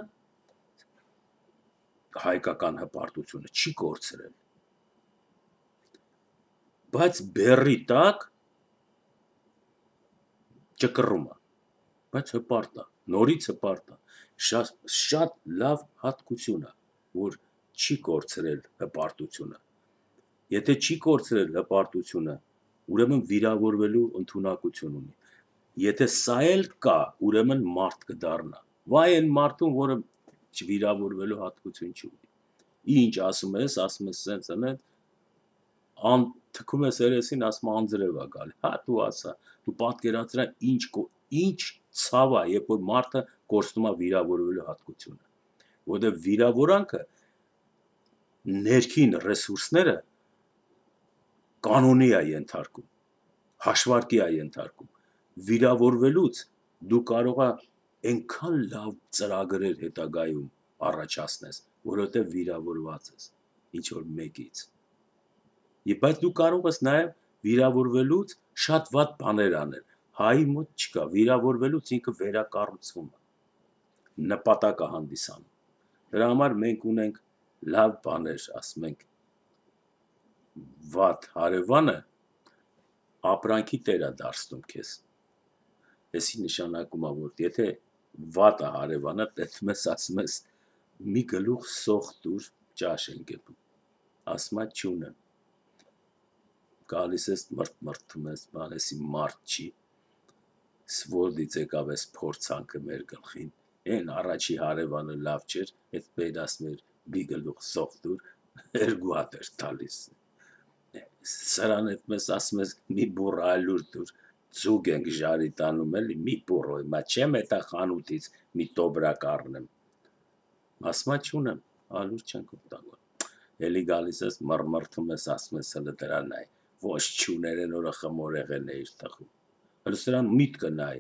հայկական հպարտությունը չի կորցրել բայց բեռի տակ ճկռում է բայց հպարտ է նորից հպարտ է շատ շատ լավ հատկություն է որ չի կորցրել հպարտությունը եթե չի կորցրել հպարտությունը ուրեմն վիրավորվելու ընդունակություն ունի եթե սա էլ կա ուրեմն մարդ կդառնա վայ այն մարդուն որը վիրավորվելու հատկություն չունի ինչ ասում ես ասում ես սենց անեն ան թքում ես երեսին ասում անձրև է գալի հա դու ասա դու պատկերացրա ինչ ինչ ցավ է երբ որ մարդը կորցնում է վիրավորվելու հատկությունը որովհետև վիրավորանքը ներքին ռեսուրսները կանոնի է ենթարկում հաշվարկի է ենթարկում վիրավորվելուց դու կարող ես այնքան լավ ծրագրեր հետագայում առաջացնես որովհետև վիրավորված ես ինչ որ մեկից Եվ բայց դու կարող ես նաև վիրավորվելուց շատ վատ բաներ անել հայի մոտ չկա վիրավորվելուց ինքը վերակառուցվում է նպատակը հանդիսանում դրա համար մենք ունենք լավ բաներ ասում ենք վատ հարևանը ապրանքի տեր է դարձնում քեզ Էսի նշանակում է որ եթե վատ է հարևանը տեսնում ես ասում ես մի գլուխ սոխ դուր ճաշ են գնում ասում է չունեմ գալիս ես մրթմրթում ես բան էսի մարդ չի սվորդից եկավ ես փորձանքը մեր գլխին այն առաջի հարևանը լավ չէր այդ պետ ասում էր մի գլուխ սոխ դուր երկու հատ էր տալիս սրան հետ մեզ ասում ես մի բուռ ալյուր դուր ձուկ ենք ժարի տանում էլի մի բուռ մա չեմ էտա խանութից մի տոբրակ առնեմ ասում է չունեմ ալյուր չենք օգտագործում էլի գալիս ես մռմռթում ես ասում ես հələ դրան նայ ոչ չուներեն օրը խմոր եղել է իր տխում հələ սրան միտքը նայ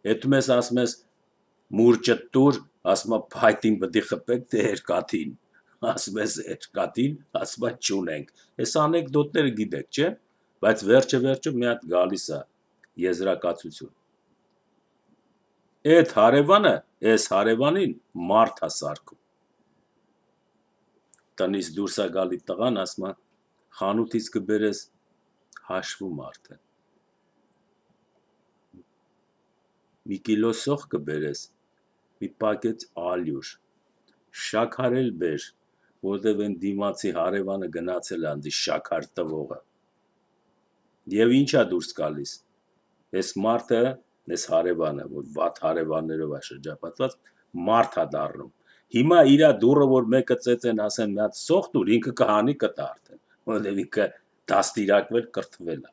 հետո մեզ ասում ես մուրճը տուր ասում է փայտին բդի խփեք թե երկաթին ասում ես երկաթին ասում է չունենք այս անեկդոտները գիտեք չէ բայց վերջը վերջը մի հատ գալիս է եզրակացություն այդ հարևանը այս հարևանին մարդ է սարքում տնից դուրս է գալի տղան ասում է խանութից կբերես հաշվում արդեն մի կիլո սոխ կբերես մի պակետ ալյուր շաքարել բեր որտեվ այն դիմացի հարևանը գնացել է անձի շաքար տվողը եւ ինչա դուրս գալիս այս մարդը այս հարևանը որ վատ հարևաններով է շրջապատված մարդ է դառնում հիմա իրա դուրը որ մեկը ծեծեն ասեն մի հատ սոխ դուր ինքը կհանի կտա արդեն որտեվ ինքը դաստիարակվել կրթվել է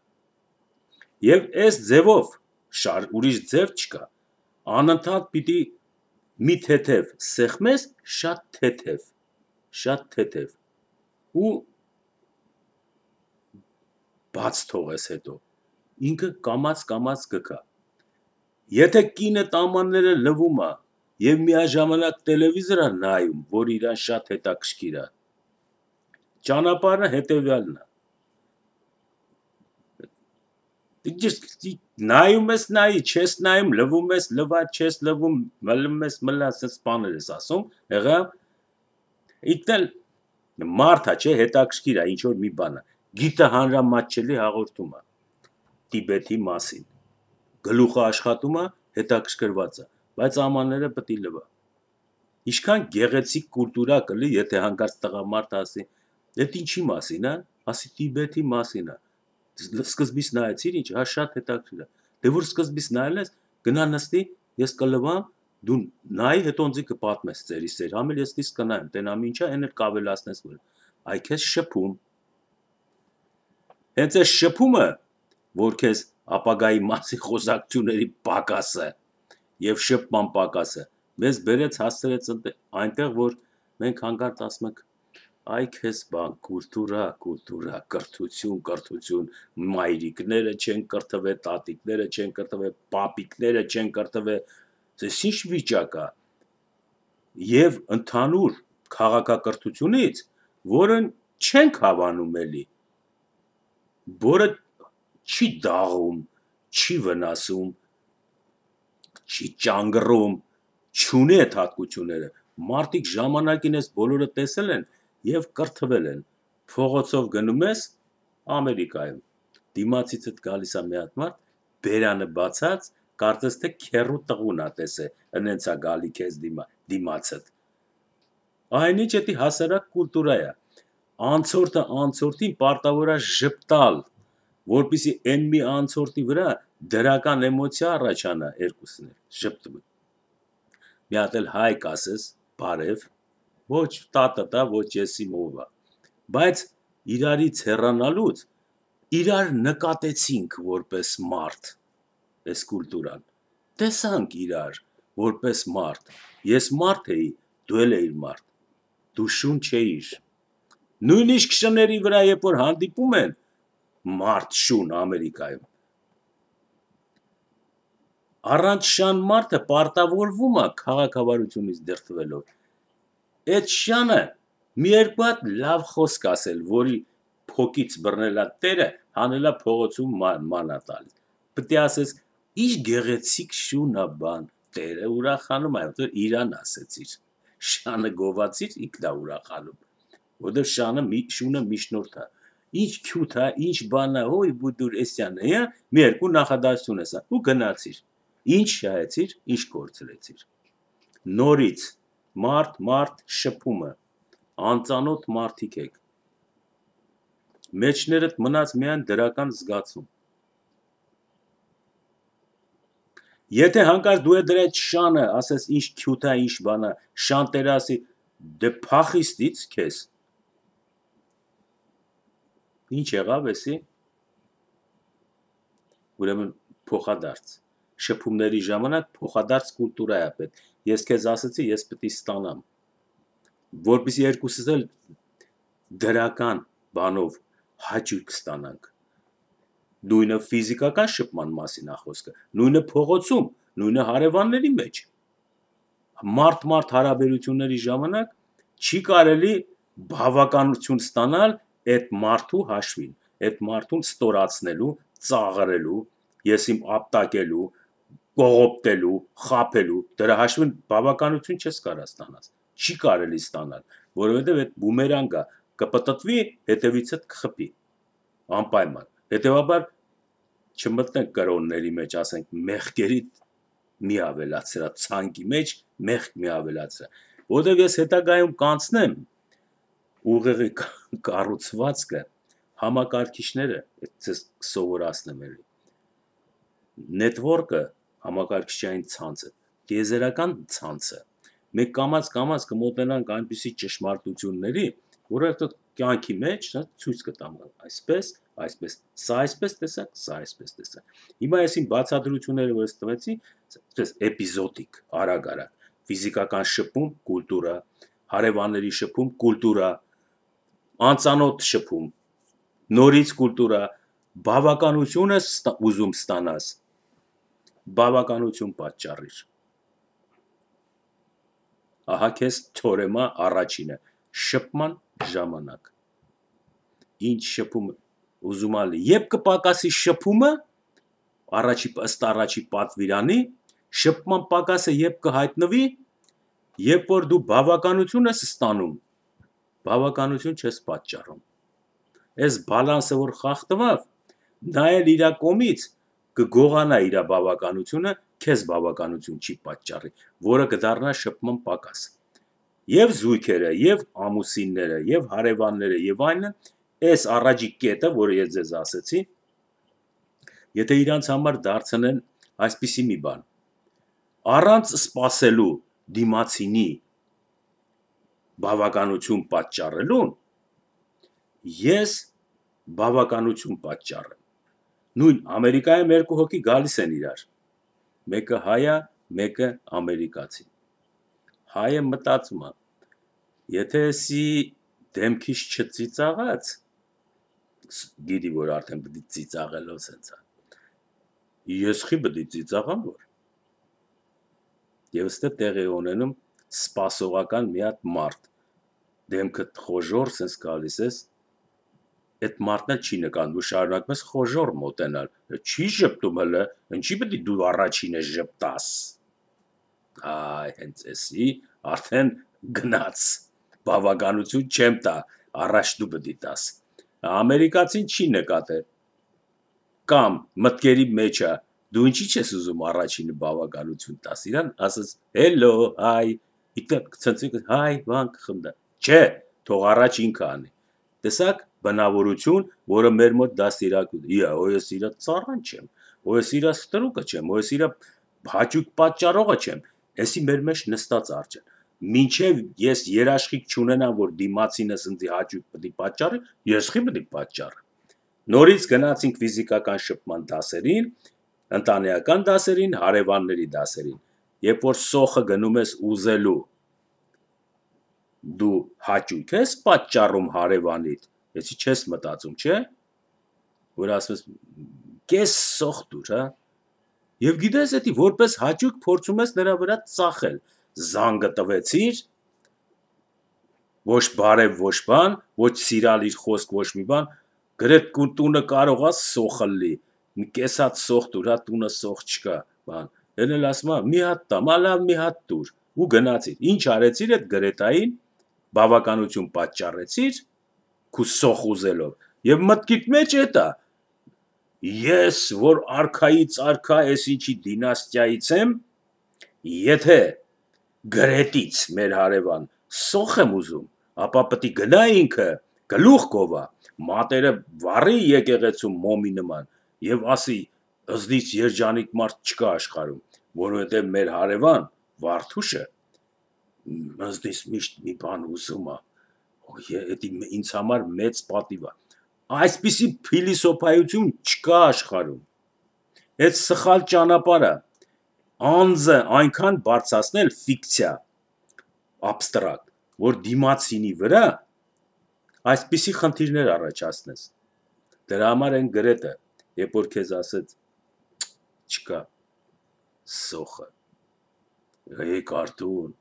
եւ այս ձևով շար ուրիշ ձև չկա անընդհատ պիտի մի թեթև սեղմես շատ թեթև շատ թեթև ու բաց թողես հետո ինքը կամած կամած կգա եթե կինը տամանները լվում է եւ միաժամանակ տելևիզոր է նայում որ իրան շատ հետաքրքիր է ճանապարհը հետեւյալն է նայում ես նայի չես նայում լվում ես լվա չես լվում մլում ես մլա ասես բաներ ես ասում եղա իդել մարդա չէ հետաքրքիր է ինչ որ մի բան է գիտը հանրամատչելի հաղորդում է Տիբեթի մասին գլուխը աշխատում է հետաքրքրված է բայց ամանները պետք է լվա ինչքան գեղեցիկ կուլտուրա կլի եթե հանկարծ տղամարդ ասի դա ինչի մասին է ասի Տիբեթի մասին է սկզբից նայեցիր ինչ հա շատ հետաքրքիր է դե որ սկզբից նայել ես գնա նստի ես կլվամ դու նայ հետո ինձ կպատմես ծերի սեր համել ես դից կնայեմ տենամ ինչա այն էլ կավելացնես որ այ քեզ շփում հենց այս շփումը որ քեզ ապագայի մասի խոսակցությունների պակասը եւ շփման պակասը մեզ բերեց հասցրեց այնտեղ որ մենք հանկարծ ասում ենք Այ քեզ բան, կուլտուրա, կուլտուրա, կրթություն, կրթություն, մայրիկները չեն կրթվել, տատիկները չեն կրթվել, պապիկները չեն կրթվել, այս ինչ վիճակ է։ Եվ ընդհանուր քաղաքակրթությունից, որը չենք հավանում էլի, որը չի դաղում, չի վնասում, չի ճանգռում, չունի այդ հատկությունները։ Մարդիկ ժամանակին այս բոլորը տեսել են եւ կրթվել են։ Փողոցով գնում ես Ամերիկայում, դիմացիցդ գալիս է մի հատ մարդ, բերանը բացած, կարծես թե քեռու տղուն է տեսե, ընենց է գալի քեզ դիմա, դիմացդ։ Այնինչ էդի հասարակ կուլտուրա է։ Անցորդը անցորդին պարտավոր է ժպտալ, որպեսզի այն մի անցորդի վրա դրական էմոցիա առաջանա երկուսն էլ, ժպտում։ Մի հատ էլ հայ կասես, բարև, ոչ տա-տա-տա, ոչ եսի մովա, բայց իրարից հեռանալուց իրար նկատեցինք որպես մարդ, այս կուլտուրան, տեսանք իրար որպես մարդ, ես մարդ էի, դու էլ էիր մարդ, դու շուն չէիր, նույնիսկ շների վրա երբ որ հանդիպում են, մարդ շուն Ամերիկայում, առանց շան մարդը պարտավորվում է քաղաքավարությունից դրդվելով, այդ շանը մի երկու հատ լավ խոսք ասել, որի փոքից բռնելա տերը, հանելա փողոցում մանա տալիս, պետք է ասես, ինչ գեղեցիկ շուն է բան, տերը ուրախանում է, որ իրան ասեցիր, շանը գովացիր, ինքն է ուրախանում, որտեղ շանը շունը միջնորդ է, ինչ քյութ է, ինչ բան է, հոյ բուդուր էսյան է, մի երկու նախադասություն ես, ու գնացիր, ինչ շահեցիր, ինչ կորցրեցիր, նորից, մարդ, մարդ, շփումը, անծանոթ մարդիկ եք, մեջներդ մնաց միայն դրական զգացում, եթե հանկարծ դու է դրա այդ շանը, ասես ինչ քյութ է, ինչ բան է, շան տերը ասի, դե փախիստից քեզ, ինչ եղավ էսի, ուրեմն փոխադարձ, շփումների ժամանակ փոխադարձ կուլտուրա է պետք, ես քեզ ասեցի, ես պետք է ստանամ, որպեսզի երկուսս էլ դրական բանով հաճույք ստանանք, նույնը ֆիզիկական շփման մասին է խոսքը, նույնը փողոցում, նույնը հարևանների մեջ, մարդ-մարդ հարաբերությունների ժամանակ չի կարելի բավականություն ստանալ այդ մարդու հաշվին, այդ մարդուն ստորացնելու, ծաղրելու, ես իմ ապտակելու, կողոպտելու, խաբելու, դրա հաշվին բավականություն չես կարող ստանալ, չի կարելի ստանալ, որովհետև այդ բումերանգը կպտտվի, հետևիցդ կխփի, անպայման, հետևաբար չմտնենք կրոնների մեջ, ասենք մեղքերիդ մի ավելացրա, ցանկի մեջ մեղք մի ավելացրա, որովհետև ես հետագայում կանցնեմ ուղեղի կառուցվածքը, համակարգիչները, ձեզ սովորացնեմ էլի, նետվորկը, համակարգչային ցանցը, տիեզերական ցանցը, մենք կամաց-կամաց կմոտենանք այնպիսի ճշմարտությունների, որը կյանքի մեջ ցույց կտամ, այսպես, այսպես, սա այսպես տեսակ, սա այսպես տեսակ, հիմա ես իմ բացատրությունները, որ ես տվեցի, այսպես էպիզոդիկ, արագ-արագ, ֆիզիկական շփում, կուլտուրա, հարևանների շփում, կուլտուրա, անծանոթ շփում, նորից կուլտուրա, բավականություն ես ուզում ստանաս, բավականություն պատճառիր, ահա քեզ թորեմա առաջինը, շփման ժամանակ, ինչ շփում ուզում ալի, երբ կպակասի շփումը, առաջի, ըստ առաջի պատվիրանի, շփման պակասը երբ կհայտնվի, երբ որ դու բավականություն ես ստանում, բավականություն չես պատճառում, այս բալանսը որ խախտվավ, նա էլ իրա կողմից կգողանա իրա բավականությունը, քեզ բավականություն չի պատճառի, որը կդառնա շփման պակաս, և զույգերը, և ամուսինները, և հարևանները, և այլն, այս առաջի կետը, որը ես ձեզ ասեցի, եթե իրանց համար դարձնեն այսպիսի մի բան, առանց սպասելու դիմացինի բավականություն պատճառելուն, ես բավականություն պատճառեմ, նույն Ամերիկայում երկու հոգի գալիս են իրար, մեկը հայ է, մեկը ամերիկացի, հայը մտածում է, եթե էսի դեմքից չծիծաղած, գիտի, որ արդեն պիտի ծիծաղելով սենց է, ես խի պիտի ծիծաղամ, որ, և ստե տեղ է ունենում սպասողական մի հատ մարդ, դեմքդ խոժոր սենց գալիս ես, այդ մարդն էլ չի նկատում, դու շարունակում ես խոժոր մոտենալ, չի ժպտում հլը, ինչի պիտի դու առաջինը ժպտաս, այ, հենց էսի, արդեն գնաց, բավականություն չեմ տա, առաջ դու պիտի տաս, ամերիկացին չի նկատել, կամ մտքերի մեջ է, դու ինչի չես ուզում առաջինը բավականություն տաս, իրան ասես, հելո, հայ, ցնցիկ, հայ, վան կխնդա, չէ, թող առաջ ինքը անի, տեսակ բնավորություն, որը մեր մոտ դաստիարակություն, իա, օ ես իրա ծառան չեմ, օ ես իրա ստրուկը չեմ, օ ես իրա հաճույք պատճառողը չեմ, էսի մեր մեջ նստած արջ է, մինչև ես երաշխիք չունենամ, որ դիմացինս ինձի հաճույք պիտի պատճառի, ես խի պիտի պատճառը, նորից գնացինք ֆիզիկական շփման դասերին, ընտանեկան դասերին, հարևանների դասերին, երբ որ սոխը գնում ես ուզելու, դու հաճույք ես պատճառում հարևանիդ, էսի չես մտածում, չէ, որ ասում ես, կես սոխ դուր, հա, և գիտես էդի, որպես հաճույք փորձում ես նրա վրա ծախել, զանգը տվեցիր, ոչ բարև, ոչ բան, ոչ սիրալիր խոսք, ոչ մի բան, գրետ տունը կարող է սոխը լի, կես հատ սոխ դուր, հա, տունը սոխ չկա, բան, են էլ ասում է, մի հատ տամ, ալավ մի հատ դուր, ու գնացիր, ինչ արեցիր այդ գրետային, բավականություն պատճառեցիր, քու սոխ ուզելով, և մտքիդ մեջ էտ է, ես, որ արքայից արքա ես ինչի դինաստիայից եմ, եթե գրետից մեր հարևան սոխ եմ ուզում, ապա պտի գնա ինքը, գլուխ գովա, մատերը վառի եկեղեցում մոմի նման, և ասի, ըզդից երջանիկ մարդ չկա աշխարհում, որովհետև մեր հարևան Վարդուշը, ըզդից միշտ մի բան ուզում է, ինձ համար մեծ պատիվ է, այսպիսի փիլիսոփայություն չկա աշխարհում, այդ սխալ ճանապարհ է, անձը այնքան բարձրացնել ֆիկցիա, աբստրակտ, որ դիմացինի վրա այսպիսի խնդիրներ առաջացնես, դրա համար են գրետը, երբ որ քեզ ասեց, չկա, սոխը, եկ արդուն,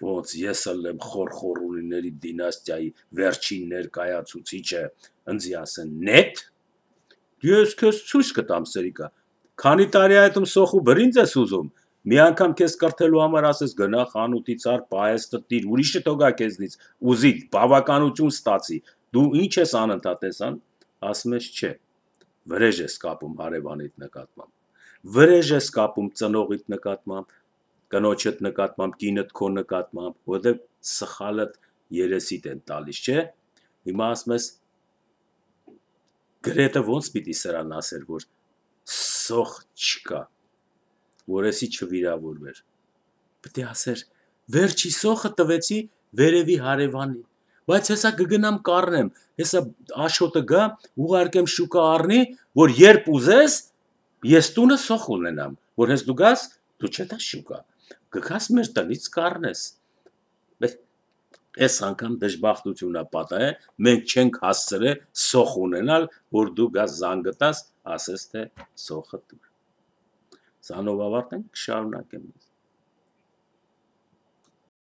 ոնց ես էլ եմ խորխորունիների դինաստիայի վերջին ներկայացուցիչը, ընձի ասեն, նետ, ես քեզ ցույց կտամ սրիկա, քանի տարի այդում սոխու բրինձ ես ուզում, մի անգամ քեզ կրթելու համար ասես գնա խանութից առ պահեստը տիր, ուրիշը թողա քեզնից, ուզի, բավականություն ստացի, դու ինչ ես անընդհատ ես ան, ասում ես չէ, վրեժ ես կապում հարևանիդ նկատմամբ, վրեժ ես կապում ծնողիդ նկատմամբ, կնոջդ նկատմամբ, կինդ քո նկատմամբ, որովհետև սխալդ երեսիդ են տալիս, չէ, հիմա ասում ես, գրետը ոնց պիտի սրան ասեր, որ սոխ չկա, որ էսի չվիրավորվեր, պտի ասեր, վերջի սոխը տվեցի վերևի հարևանին, բայց հեսա կգնամ կառնեմ, հեսա աշոտը գա, ուղարկեմ շուկա առնի, որ երբ ուզես, ես տունը սոխ ունենամ, որ հես դու գաս, դու չետաս շուկա, գգաս մեր տնից կառնես, այս անգամ դժբախտություն է պատահել, մենք չենք հասցրել սոխ ունենալ, որ դու գաս զանգը տաս, ասես թե սոխը դուր, սանով ավարտենք, կշարունակեմ